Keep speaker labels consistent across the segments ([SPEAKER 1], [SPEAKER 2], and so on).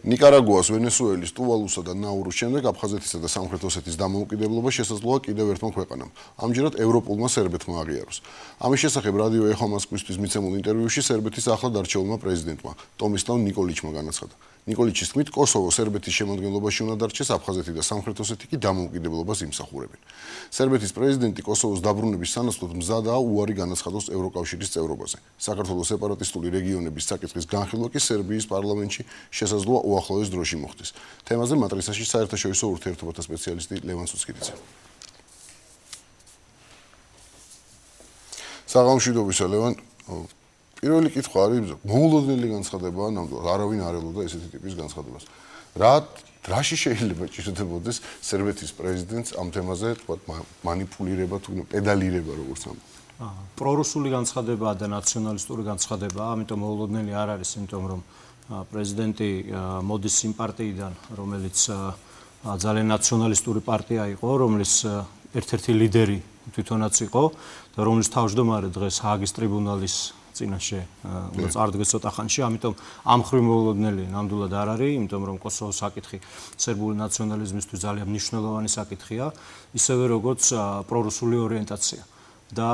[SPEAKER 1] ნიკარაგუას, ვენესუელის, ტუვალუსა და ნაურუს შემდეგ აფხაზეთისა და სამხრეთ ოსეთის დამოუკიდებლობა შესაძლოა კიდევ ერთმა ქვეყანამ. ამჯერად ევროპულმა სერბეთმა აღიაროს. ამის შესახებ რადიო ეხო მოსკოვისთვის მიცემულ ინტერვიუში სერბეთის ახლად არჩეულმა პრეზიდენტმა ტომისლავ ნიკოლიჩმა განაცხადა. ნიკოლიჩის თქმით, კოსოვო სერბეთის შემადგენლობაში უნდა დარჩეს, აფხაზეთი და სამხრეთ ოსეთი კი დამოუკიდებლობას იმსახურებენ. სერბეთის პრეზიდენტი კოსოვოს დაბრუნების სანაცვლოდ მზადაა უარი განაცხადოს ევროკავშირის წევრობაზე. საქართველოს სეპარატისტული რეგიონების საკითხის განხილვა კი სერბიის პარლამენტში შესაძლოა უახლოეს დროში მოხდეს. თემაზე მატრიცაში საერთაშორისო ურთიერთობათა სპეციალისტი ლევან სუცკირიძე. საღამოშვიდობისა ლევან, პირველი კითხვა არის მოულოდნელი განცხადებაა ნამდვილად, არავინ არ ელოდა ესეთი ტიპის განცხადებას. რაში შეიძლება ჭირდებოდეს სერბეთის პრეზიდენტს ამ თემაზე, თქვა მანიპულირება თუ პედალირება როგორც ამბობ.
[SPEAKER 2] პრორუსული განცხადებაა და ნაციონალისტური განცხადებაა, ამიტომ მოულოდნელი არ არის, იმიტომ რომ პრეზიდენტი მოდის იმ პარტიიდან, რომელიც ძალიან ნაციონალისტური პარტია იყო, რომლის ერთ-ერთი ლიდერი თვითონაც იყო და რომლის თავმჯდომარე დღეს ჰააგის ტრიბუნალის წინაშე უნდა წარდგეს ცოტა ხანში, ამიტომ ამ ხრივ მოულოდნელი ნამდვილად არ არის, იმიტომ რომ კოსოვოს საკითხი სერბული ნაციონალიზმისთვის ძალიან მნიშვნელოვანი საკითხია, ისევე როგორც პრორუსული ორიენტაცია. და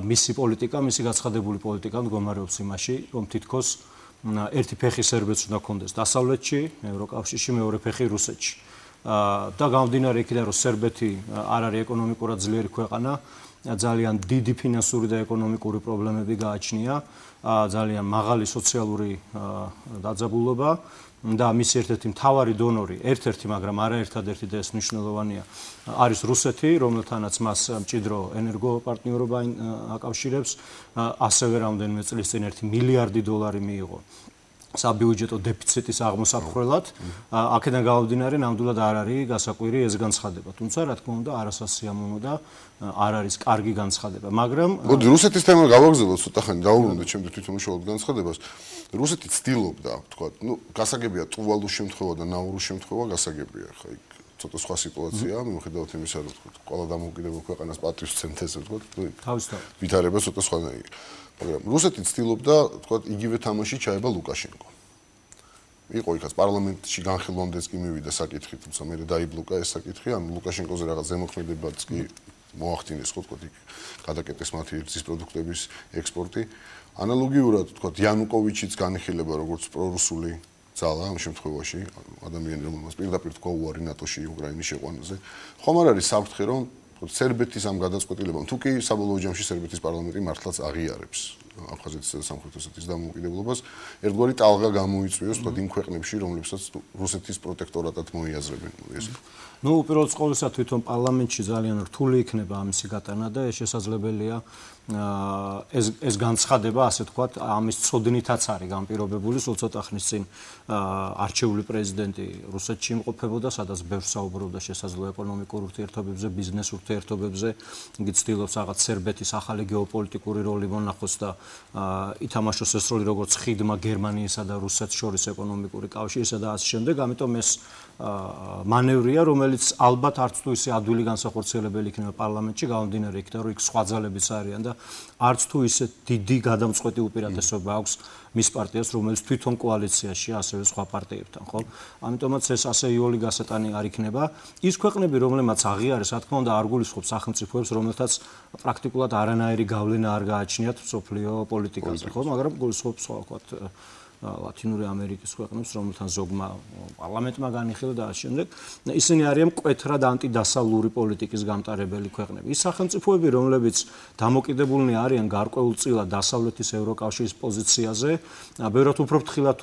[SPEAKER 2] მისი პოლიტიკა, მისი გაცხადებული პოლიტიკა მდგომარეობს იმაში, რომ თითქოს ერთი ფეხი სერბეთს უნდა კონდეს დასავლეთში, ევროკავშირში, მეორე ფეხი რუსეთში. და გამომდინარე იქიდან, რომ სერბეთი არ არის ეკონომიკურად ძლიერი ქვეყანა, ძალიან დიდი ფინანსური და ეკონომიკური პრობლემები გააჩნია, ძალიან მაღალი სოციალური დაძაბულობა და მისი ერთ-ერთი მთავარი დონორი, ერთ-ერთი, მაგრამ არაერთადერთი და ეს მნიშვნელოვანია, არის რუსეთი, რომელთანაც მას მჭიდრო ენერგოპარტნიორობა აკავშირებს, ასევე რამდენიმე წლის წინ 1 მილიარდი დოლარი მიიღო საბიუჯეტო დეფიციტის აღმოსაფხვრელად. აქედან გამომდინარე, ნამდვილად არ არის გასაკვირი ეს განცხადება. თუმცა, რა თქმა უნდა, არასასიამოვნო და არ არის კარგი განცხადება. მაგრამ
[SPEAKER 1] მოდი რუსეთის თემა გავაგზავნოთ ცოტა ხანი, დავუბრუნდეთ ჩემთვის თვითონ უშუალოდ განცხადებას. რუსეთი ცდილობდა, თქვა, გასაგებია ტუვალუს შემთხვევა და ნაურუს შემთხვევა გასაგებია, ხა იქ ცოტა სხვა სიტუაციაა, მიუხედავად იმისა, რომ თქვა, ყველა დამოუკიდებელ ქვეყანას პატრის ცენტრზე თქვა,
[SPEAKER 2] თავისთავად
[SPEAKER 1] ვითარება ცოტა სხვანაირი. მაგრამ რუსეთი ცდილობდა, თქვა, იგივე თამაში ჩაება ლუკაშენკო. იყო იქაც პარლამენტში განხილვამდეც კი მივიდა საკითხი, თუმცა მე დაიბლოკა ეს საკითხი, ან ლუკაშენკოზე რაღაც ზემოქმედებაც კი მოახდინეს, ხო თქვა, იქ გადაკეტეს მათი რძის პროდუქტების ექსპორტი. ანალოგიურად, თქვა, იანუკოვიჩიც განიხილება როგორც პრორუსული ძალა ამ შემთხვევაში, ადამიანი, რომელმაც პირდაპირ თქვა უარი ნატოში უკრაინის შეყვანაზე. ხომ არ არის საფრთხე, რომ სერბეთის ამ გადაწყვეტილებამ, თუ კი საბოლოო ჯამში სერბეთის პარლამენტი მართლაც აღიარებს აფხაზეთისა და სამხრეთ ოსეთის დამოუკიდებლობას, ერთგვარი ტალღა გამოიწვიოს თქვა იმ ქვეყნებში, რომლებსაც რუსეთის პროტექტორატად მოიაზრებენ ეს.
[SPEAKER 2] უპირველეს ყოვლისა თვითონ პარლამენტში ძალიან რთული იქნება ამისი გატანა და ეს შესაძლებელია ეს განცხადება, ასე ვთქვათ, ამის წოდნითაც არის განპირობებული, სულ ცოტა ხნის წინ არჩეული პრეზიდენტი რუსეთში იმყოფებოდა, სადაც ბევრს საუბრობდა შესაძლო ეკონომიკურ ურთიერთობებზე, ბიზნეს ურთიერთობებზე, იგი ცდილობს რაღაც სერბეთის ახალი გეოპოლიტიკური როლი მონახოს და ითამაშოს ეს როლი როგორც ხიდმა გერმანიისა და რუსეთს შორის ეკონომიკური კავშირისა და ასე შემდეგ, ამიტომ ეს მანევრია, რომელიც ალბათ არც თუ ისე ადვილი განსახორციელებელი იქნება პარლამენტში, გამომდინარე იქიდან, რომ იქ სხვა ძალებიც არიან და არც თუ ისე დიდი გადამწყვეტი უპირატესობა აქვს მის პარტიას, რომელიც თვითონ კოალიციაშია ასევე სხვა პარტიებთან, ხო? ამიტომაც ეს ასე იოლი გასატანი არ იქნება. ის ქვეყნები, რომლებმაც აღიარეს, რა თქმა უნდა, არ გულისხმობს სახელმწიფოებს, რომელთაც პრაქტიკულად არანაირი გავლენა არ გააჩნიათ მსოფლიო პოლიტიკაზე, ხო? მაგრამ გულისხმობს სხვა, ვთქვათ, ლათინური ამერიკის ქვეყნებს, რომელთან ზოგმა პარლამენტმა განიხილა და ასე შემდეგ. ისინი არიან მკვეთრად ანტიდასავლური პოლიტიკის გამტარებელი ქვეყნები. ის სახელმწიფოები, რომლებიც დამოკიდებულნი არიან გარკვეულწილად დასავლეთის ევროკავშირის პოზიციაზე, ბევრად უფრო ფრთხილად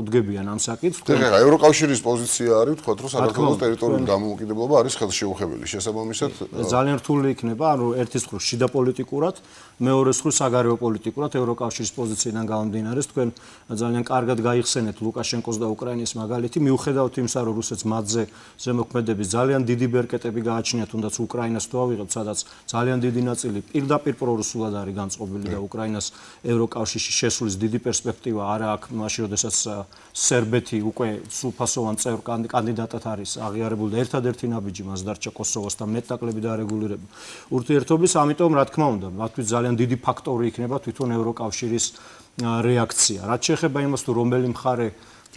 [SPEAKER 2] უდგებიან ამ საკითხს.
[SPEAKER 1] ეხლა ევროკავშირის პოზიცია არის, ვთქვათ, რომ საქართველოს ტერიტორიული დამოუკიდებლობა არის ხელშეუხებელი. შესაბამისად,
[SPEAKER 2] ძალიან რთული იქნება, ანუ ერთის მხრივ შიდა პოლიტიკურად, მეორეს მხრივ საგარეო პოლიტიკურად ევროკავშირის პოზიციიდან გამომდინარე, თქვენ ძალიან კარგად გაიხსენეთ ლუკაშენკოს და უკრაინის მაგალითი, მიუხედავად იმისა, რომ რუსეთს მათზე ზემოქმედების ძალიან დიდი ბერკეტები გააჩნია, თუნდაც უკრაინას თუ ავიღებთ, სადაც ძალიან დიდი ნაწილი პირდაპირ პრორუსულად არის განწყობილი და უკრაინას ევროკავშირში შესვლის დიდი პერსპექტივა არა აქვს, მაშინ როდესაც სერბეთი უკვე სრულფასოვან წევრ კანდიდატად არის აღიარებული და ერთადერთი ნაბიჯი მას დარჩა კოსოვოსთან მეტნაკლები დარეგულირება ურთიერთობის, ამიტომ რა თქმა უნდა, მათთვის ძალიან დიდი ფაქტორი იქნება თვითონ ევროკავშირის რეაქცია. რაც შეეხება იმას, თუ რომელი მხარე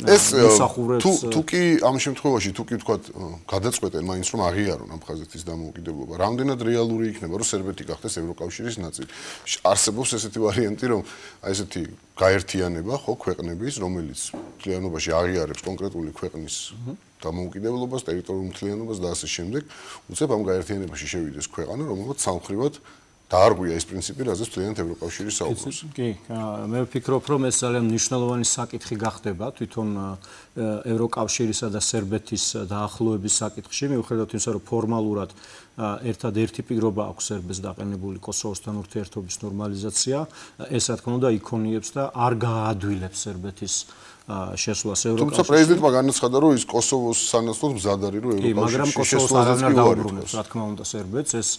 [SPEAKER 1] ეს თუ კი ამ შემთხვევაში თუ კი ვთქვათ გადაწყვეტენ მაინც რომ აღიარონ აფხაზეთის დამოუკიდებლობა, რამდენად რეალური იქნება რომ სერბეთი გახდეს ევროკავშირის ნაწილი. არსებობს ესეთი ვარიანტი რომ აი ესეთი გაერთიანება ხო ქვეყნების, რომელიც მთლიანობაში აღიარებს კონკრეტული ქვეყნის დამოუკიდებლობას, ტერიტორიულ მთლიანობას და ასე შემდეგ, უცებ ამ გაერთიანებაში შევიდეს ქვეყანა, რომელსაც სამხრივად დაარღვია ეს პრინციპი, რაზეც მთლიანად ევროკავშირი საუბრობს.
[SPEAKER 2] კი, მე ვფიქრობ, რომ ეს ძალიან მნიშვნელოვანი საკითხი გახდება თვითონ ევროკავშირისა და სერბეთის დაახლოების საკითხში, მიუხედავად იმისა, რომ ფორმალურად ერთადერთი პირობა აქვს სერბეთს დაყენებული კოსოვოსთან ურთიერთობის ნორმალიზაცია, ეს რა თქმა უნდა იქონიებს და არ გააადვილებს სერბეთის შესვლას ევროკავშირში.
[SPEAKER 1] თუმცა პრეზიდენტმა განაცხადა, რომ ის კოსოვოს სანაცვლოდ მზად არის, რომ ევროკავშირში შესვლაზეც კი
[SPEAKER 2] უარობს, რა თქმა უნდა, სერბეთს ეს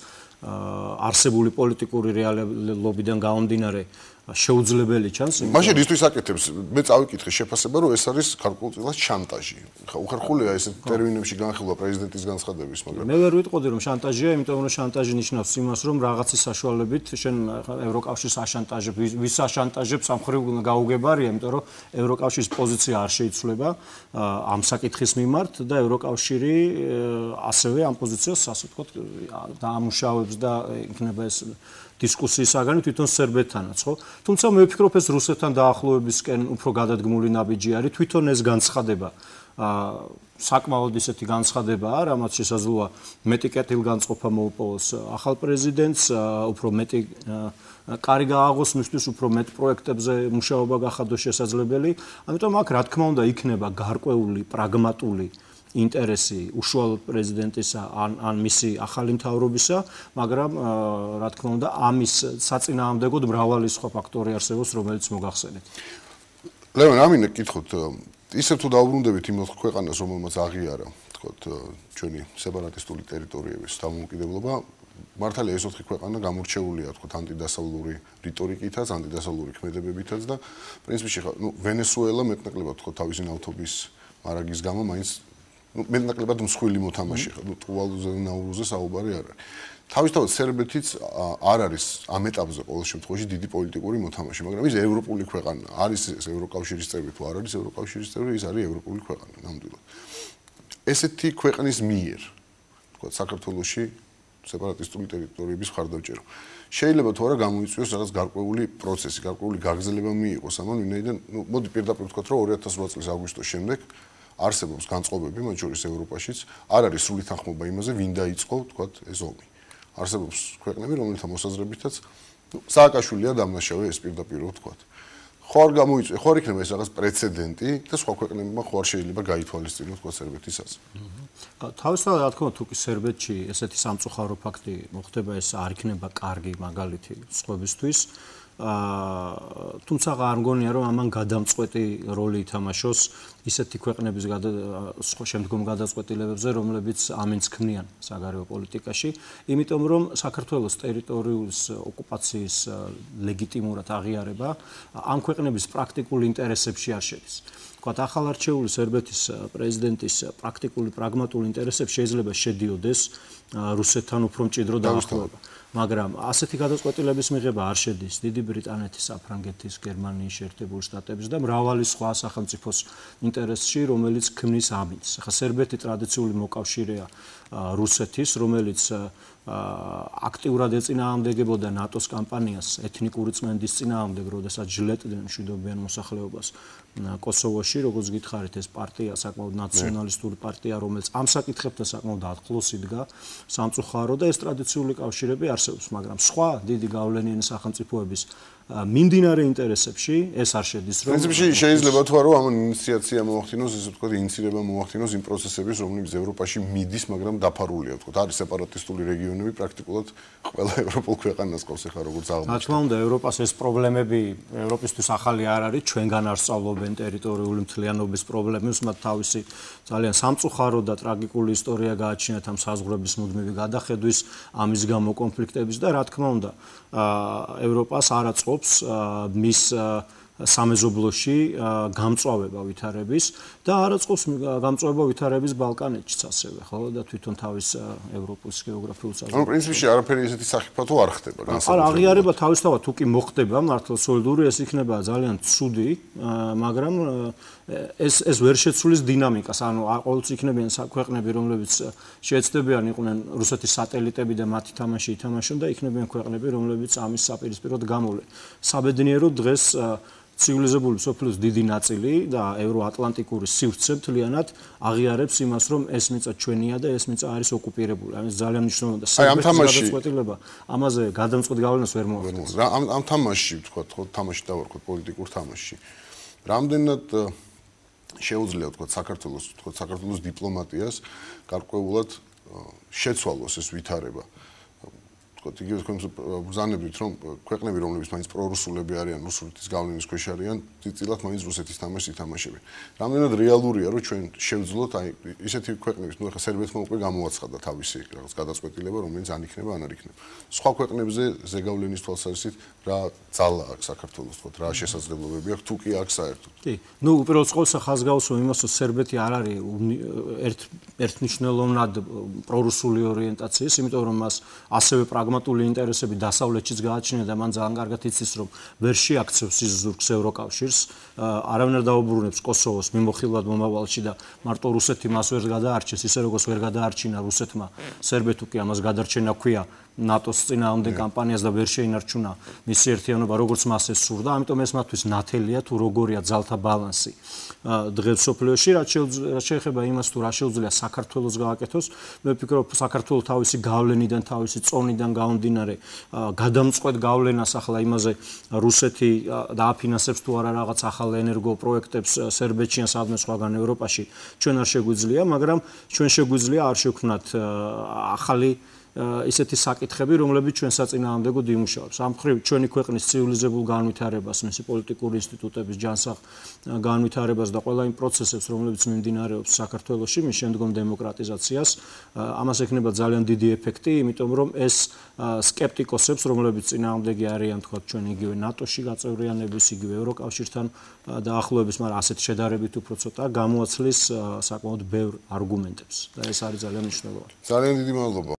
[SPEAKER 2] არსებული პოლიტიკური რეალობიდან გამომდინარე შეუძლებელი ჩანს.
[SPEAKER 1] მაშინ ისთვის აკეთებს, მე წავიკითხე შეფასება, რომ ეს არის გარკვეულწილად შანტაჟი. ხა უხერხულია ეს ტერმინებში განხილვა პრეზიდენტის განცხადების, მაგრამ
[SPEAKER 2] მე ვერ ვიტყოდი რომ შანტაჟია, იმიტომ რომ შანტაჟი ნიშნავს იმას, რომ რაღაცის საშუალებით შენ ევროკავშირს აშანტაჟებ, ვის აშანტაჟებს ამ ხრივ გაუგებარია, იმიტომ რომ ევროკავშირის პოზიცია არ შეიცვლება ამ საკითხის მიმართ და ევროკავშირი ასევე ამ პოზიციას ასე ვთქვათ დაამუშავებს და იქნება ეს დისკუსიის საგანი თვითონ სერბეთთანაც, ხო? თუმცა მე ვფიქრობ ეს რუსეთთან დაახლოებისკენ უფრო გადადგმული ნაბიჯი არის, თვითონ ეს განცხადება საკმაოდ ისეთი განცხადებაა, რამაც შესაძლოა მეტი კეთილგანწყობა მოუპოვოს ახალ პრეზიდენტს, უფრო მეტი კარი გააღოს მისთვის, უფრო მეტ პროექტებზე მუშაობა გახადოს შესაძლებელი. ამიტომ აქ რა თქმა უნდა იქნება გარკვეული პრაგმატული ინტერესი უშუალოდ პრეზიდენტისა ან მისი ახალი მთავრობისა, მაგრამ რა თქმა უნდა ამის საწინააღმდეგოდ მრავალი სხვა ფაქტორი არსებობს, რომელიც მოგახსენეთ.
[SPEAKER 1] ლევან, ამინე გკითხოთ, ისევ თუ დაუბრუნდებით იმ ქვეყანას, რომელმაც აღიარა, თქოთ, ჩვენი სეპარატისტული ტერიტორიების დამოუკიდებლობა, მართალია ეს 4 ქვეყანა გამორჩეულია, თქოთ, ანტიდასავლური რიტორიკითაც, ანტიდასავლური ქმედებებითაც და პრინციპში ხა, ვენესუელა მეტნაკლებად თქოთ თავისი ნავთობის მარაგის გამო მაინც მეტნაკლებად მსხვილი მოთამაშე ხა, ტუვალუზე და ნაურუზე საუბარი არ არის. თავისთავად სერბეთიც არ არის ამ ეტაპზე ყოველ შემთხვევაში დიდი პოლიტიკური მოთამაშე, მაგრამ ის ევროპული ქვეყანა, არის ეს ევროკავშირის წევრი თუ არ არის ევროკავშირის წევრი, ის არის ევროპული ქვეყანა ნამდვილად. ესეთი ქვეყნის მიერ, თქოთ, საქართველოში სეპარატისტული ტერიტორიების მხარდამჭერო. შეიძლება თუ არა გამოიწვიოს რაღაც გარკვეული პროცესი, გარკვეული გაგრძელება მიიღოს ამან, ვინაიდან, მოდი პირდაპირ ვთქვათ, რომ 2008 წლის აგვისტოს შემდეგ არსებობს განწყობები, მათ შორის ევროპაშიც, არ არის სრული თანხმობა იმაზე, ვინ დაიწყო, ვთქვათ, ეს ომი. არსებობს ქვეყნები, რომელთა მოსაზრებითაც სააკაშვილია დამნაშავე ეს პირდაპირ ვთქვათ. ხო არ გამოიწვია, ხო არ იქნება ეს რაღაც პრეცედენტი და სხვა ქვეყნებმა ხო არ შეიძლება გაითვალისწინოს თქვა სერბეთისაც.
[SPEAKER 2] თავისთავად რა თქმა უნდა, თუ კი სერბეთში ესეთი სამწუხარო ფაქტი მოხდება, ეს არ იქნება კარგი მაგალითი სხვებისთვის. თუმცა არ მგონია რომ ამან გადამწყვეტი როლი ითამაშოს ისეთი ქვეყნების შემდგომ გადაწყვეტილებებზე, რომლებიც ამინს ქმნიან საგარეო პოლიტიკაში, იმიტომ რომ საქართველოს ტერიტორიული ოკუპაციის ლეგიტიმურად აღიარება ამ ქვეყნების პრაქტიკულ ინტერესებში არ შედის. თქვათ, ახალარჩეული სერბეთის პრეზიდენტის პრაქტიკული პრაგმატული ინტერესებში შეიძლება შედიოდეს რუსეთთან უფრო მჭიდრო დაახლოება. მაგრამ ასეთი გადაწყვეტილების მიღება არ შედის დიდი ბრიტანეთის, საფრანგეთის, გერმანიის შეერთებული შტატების და მრავალი სხვა სახელმწიფოს ინტერესში, რომელიც ქმნის ამინს. ახლა სერბეთი ტრადიციული მოკავშირეა რუსეთის, რომელიც აქტიურად ეწინააღმდეგებოდა ნატოს კამპანიას ეთნიკური წმენდის წინააღმდეგ, როდესაც ჟლეტდნენ მშვიდობიან მოსახლეობას კოსოვოში, როგორც გითხარით, ეს პარტია საკმაოდ ნაციონალისტური პარტია, რომელიც ამ საკითხებთან საკმაოდ ახლოს იდგა, სამწუხარო და ეს ტრადიციული კავშირები არსებობს, მაგრამ სხვა დიდი გავლენიანი სახელმწიფოების მიმდინარე ინტერესებში ეს არ შედის, რომ
[SPEAKER 1] პრინციპში შეიძლება თქვა, რომ ამ ინიციაცია მოახდინოს, ესე ვთქვათ, ინიცირება მოახდინოს იმ პროცესების, რომლებიც ევროპაში მიდის, მაგრამ დაფარულია, ვთქვათ, არის სეპარატისტული რეგიონები, პრაქტიკულად ყველა ევროპულ ქვეყანას ყავს ახლა როგორც აღმოჩნდა.
[SPEAKER 2] რა თქმა უნდა, ევროპას ეს პრობლემები ევროპისთვის ახალი არ არის, ჩვენგან არ სწავლობენ ტერიტორიული მთლიანობის პრობლემებს, მათ თავისი ძალიან სამწუხარო და ტრაგიკული ისტორია გააჩნიათ ამ საზღვრების მუდმივი გადახედვის, ამის გამო კონფლიქტების და რა თქმა უნდა, ევროპას არ აწყობს მის სამეზობლოში გამწვავება ვითარების და არაწყობს გამწვავება ვითარების ბალკანეთშიც ასევე, ხო და თვითონ თავის ევროპის გეოგრაფიულ საზღვრებში.
[SPEAKER 1] ანუ პრინციპში არაფერი ესეთი სახიფათო არ ხდება განსაკუთრებით.
[SPEAKER 2] არა, აღიარება თავისთავად თუ კი მოხდება მართლა სოლიდური, ეს იქნება ძალიან ცუდი, მაგრამ ეს ვერ შეცვლის დინამიკას. ანუ ყოველთვის იქნებიან ქვეყნები, რომლებიც შეეცდებიან იყვნენ რუსეთის სატელიტები და მათი თამაში ითამაშონ და იქნებიან ქვეყნები, რომლებიც ამის საპირისპიროდ გამოვლენ. საბედნიეროდ დღეს ცივილიზებული სოფლის დიდი ნაწილი და ევროატლანტიკური სივრცე მთლიანად აღიარებს იმას, რომ ეს მიწა ჩვენია და ეს მიწა არის ოკუპირებული. ამის ძალიან მნიშვნელოვანი და სერბეთის გადაწყვეტილება ამაზე გადამწყვეტ გავლენას ვერ მოახდენს.
[SPEAKER 1] ამ თამაშში ვთქვათ, ხო, თამაში დავარქვათ პოლიტიკურ თამაშში. რამდენად შეუძლია ვთქვათ საქართველოს დიპლომატიას გარკვეულად შეცვალოს ეს ვითარება. ვთქვათ, იგივე თქვენ ბრძანებთ, რომ ქვეყნები, რომლებიც მაინც პრორუსულები არიან, რუსეთის გავლენის ქვეშ არიან, წილად მაინც რუსეთის თამაშს ითამაშებენ. რამდენად რეალურია, რომ ჩვენ შევძლოთ აი ისეთი ქვეყნების, ნუ ახლა სერბეთმა უკვე გამოაცხადა თავისი რაღაც გადაწყვეტილება, რომელიც ან იქნება, ან არ იქნება. სხვა ქვეყნებზე ზეგავლენის თვალსაზრისით რა ძალა აქვს საქართველოს, ვთქვათ, რა შესაძლებლობები აქვს, თუ კი აქვს საერთოდ.
[SPEAKER 2] კი, ნუ უპირველეს ყოვლისა ხაზგაუსვა იმას, რომ სერბეთი არ არის ერთნიშნელოვნად პრორუსული ორიენტაციის, იმიტომ რომ მას ასევე პრაგმატული ინტერესები დასავლეთშიც გააჩნია და მან ძალიან კარგად იცის, რომ ვერ შეაქცევს ის ზურგს ევროკავშირს, არავინ არ დაუბრუნებს კოსოვოს მიმოხილვად მომავალში და მარტო რუსეთი მას ვერ გადაარჩენს, ისე როგორც ვერ გადაარჩინა რუსეთმა სერბეთს კი ამას გადარჩენა ჰქვია ნატოს წინააღმდეგ კამპანიას და ვერ შეინარჩუნა მისი ერთიანობა, როგორც მას ეს სურდა, ამიტომ ეს მათთვის ნათელია თუ როგორია ძალთა ბალანსი დღეს სოფლიოში, რაც შეეხება იმას თუ რა შეუძლია საქართველოს გააკეთოს, მე ვფიქრობ საქართველოს თავისი გავლენიდან, თავისი წონიდან გამომდინარე გადამწყვეტ გავლენას ახლა იმაზე რუსეთი დააფინანსებს თუ არა რაღაც ახალ ენერგო პროექტებს სერბეთში ან სადმე სხვაგან ევროპაში ჩვენ არ შეგვიძლია, მაგრამ ჩვენ შეგვიძლია არ შევქმნათ ახალი ისეთი საკითხები, რომლებიც ჩვენ საწინააღმდეგოდ იმუშავებს. ამ მხრივ ჩვენი ქვეყნის ცივილიზებულ განვითარებას, მისი პოლიტიკური ინსტიტუტების ჯანსაღ განვითარებას და ყველა იმ პროცესებს, რომლებიც მიმდინარეობს საქართველოში, მის შემდგომ დემოკრატიზაციას, ამას ექნება ძალიან დიდი ეფექტი, იმიტომ რომ ეს სკეპტიკოსებს, რომლებიც წინააღმდეგი არიან, თქვა ჩვენ იგივე ნატოში გაწევრიანების, იგივე ევროკავშირთან დაახლოების, მაგრამ ასეთ შედარებით უფრო ცოტა გამოაცლის საკმაოდ ბევრ არგუმენტებს და ეს არის ძალიან მნიშვნელოვანი.
[SPEAKER 1] ძალიან დიდი მადლობა.